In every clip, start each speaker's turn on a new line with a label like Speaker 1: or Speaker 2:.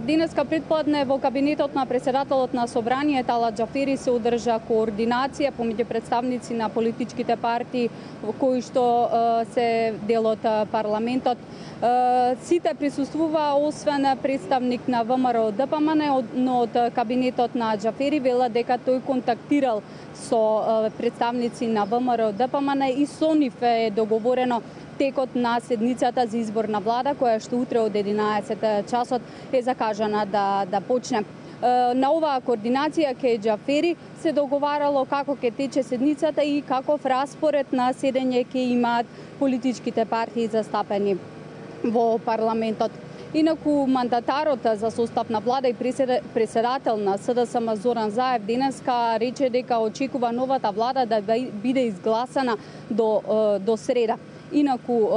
Speaker 1: Денеска предпладне во кабинетот на председателот на Собрание Тала Џафери се одржа координација помеѓу представници на политичките партии кои што се дел од парламентот. Сите присуствуваа освен представник на ВМРО ДПМН, но од кабинетот на Џафери велат дека тој контактирал со представници на ВМРО ДПМН и со нив е договорено текот на седницата за избор на влада, која што утре од 11 часот е закажана да почне. На оваа координација ке Џафери се договарало како ќе тече седницата и каков распоред на седење ќе имаат политичките партии застапени во парламентот. Инаку мандатарот за состав на влада и председател на СДСМ Зоран Заев денеска рече дека очекува новата влада да биде изгласана до среда. Инаку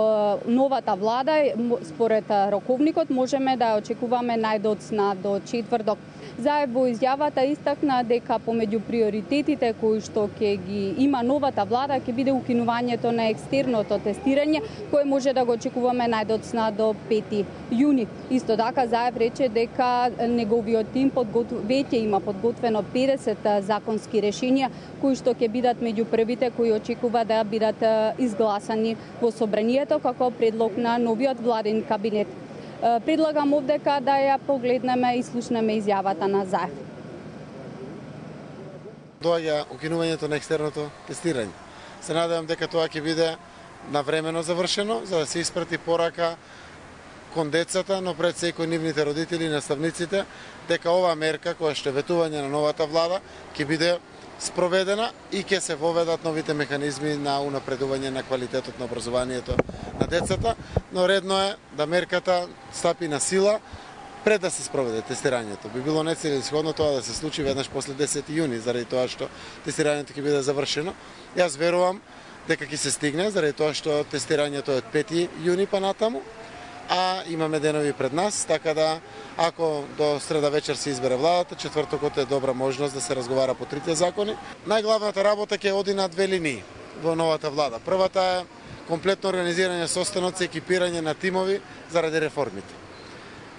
Speaker 1: новата влада, според роковникот, можеме да очекуваме најдоцна до четврток. Заев во изјавата истакна дека помеѓу приоритетите кои што ќе ги има новата влада ќе биде укинувањето на екстерното тестирање, кое може да го очекуваме најдоцна до 5 јуни. Исто така Заев рече дека неговиот тим веќе има подготвено 50 законски решенија кои што ќе бидат меѓу првите кои очекува да бидат изгласани во Собранието како предлог на новиот владин кабинет. Предлагам овдека да ја погледнеме и слушнеме изјавата на Заев.
Speaker 2: Доаѓа укинувањето на екстерното тестирање. Се надевам дека тоа ќе биде навремено завршено, за да се испрати порака кон децата, но пред секој нивните родители и наставниците, дека оваа мерка која што е ветување на новата влада ќе биде спроведена и ќе се воведат новите механизми на унапредување на квалитетот на образованието на децата, но редно е да мерката стапи на сила пред да се спроведе тестирањето. Би било нецелесходно тоа да се случи веднаш после 10 јуни, заради тоа што тестирањето ќе биде завршено. Јас верувам дека ќе се стигне, заради тоа што тестирањето е од 5 јуни па натаму, а имаме денови пред нас, така да ако до среда вечер се избере владата, четвртокот е добра можност да се разговара по трите закони. Најглавната работа ќе оди на две линии во новата влада. Првата е комплетно организирање состаноци, екипирање на тимови заради реформите.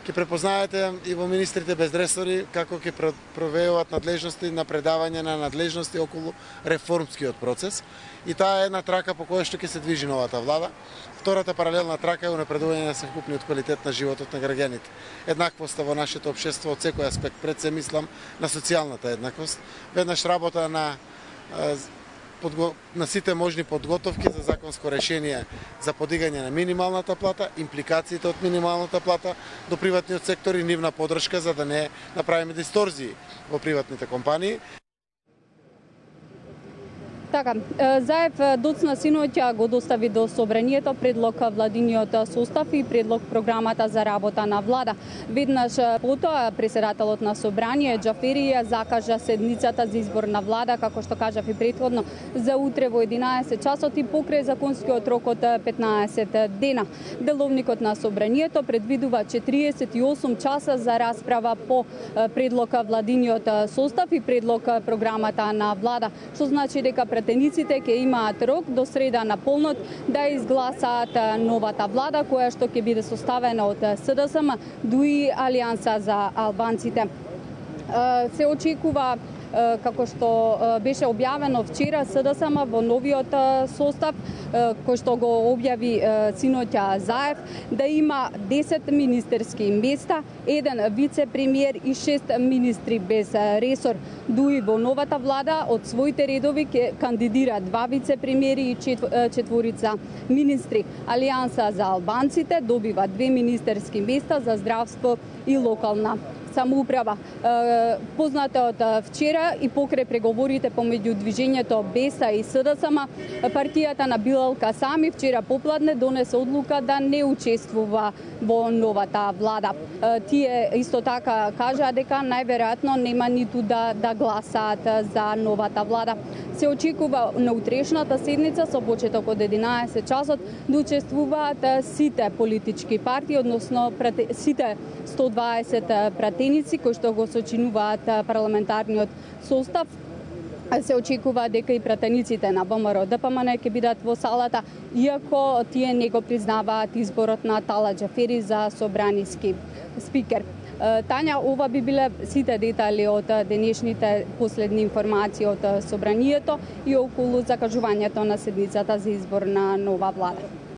Speaker 2: Ќе препознаете и во министрите без ресори како ќе провеуваат надлежности на предавање на надлежности околу реформскиот процес. И таа е една трака по која што ќе се движи новата влада. Втората паралелна трака е унапредување на совкупниот квалитет на животот на граѓаните. Еднаквоста во нашето општество од секој аспект, пред се мислам на социјалната еднаквост. Веднаш работа на сите можни подготовки за законско решение за подигање на минималната плата, импликациите од минималната плата до приватниот сектор и нивна поддршка за да не направиме дисторзии во приватните компании.
Speaker 1: Така, Заев доцна синоќа го достави до Собранието предлог владиниот состав и предлог програмата за работа на влада. Веднаш потоа председателот на Собрание Џафери ја закажа седницата за избор на влада, како што кажав и претходно, за утре во 11 часот и покрај законскиот рок од 15 дена. Деловникот на Собранието предвидува 48 часа за расправа по предлог владиниот состав и предлог програмата на влада, што значи дека пратениците ќе имаат рок до среда на полнот да изгласаат новата влада која што ќе биде составена од СДСМ, ДУИ, Алијанса за албанците. Се очекува, како што беше објавено вчера, СДСМ во новиот состав, кој што го објави синоќа Заев, да има 10 министерски места, 1 вице-премиер и 6 министри без ресор. ДУИ во новата влада од своите редови ќе кандидира 2 вице-премиери и 4 министри. Алијанса за албанците добива 2 министерски места за здравство и локална самоуправа. Познато од вчера и покрај преговорите помеѓу движењето БЕСА и СДСМ, партијата на Билал Касами вчера попладне донесе одлука да не учествува во новата влада. Тие исто така кажаа дека најверојатно нема ниту да гласаат за новата влада. Се очекува на утрешната седница со почеток од 11 часот да учествуваат сите политички партии, односно сите 120 пратеници кои што го сочинуваат парламентарниот состав. Се очекува дека и пратениците на ВМРО ДПМН ќе бидат во салата, иако тие не го признаваат изборот на Тала Џафери за собраниски спикер. Тања, ова би биле сите детали од денешните последни информации од собранието и околу закажувањето на седницата за избор на нова влада.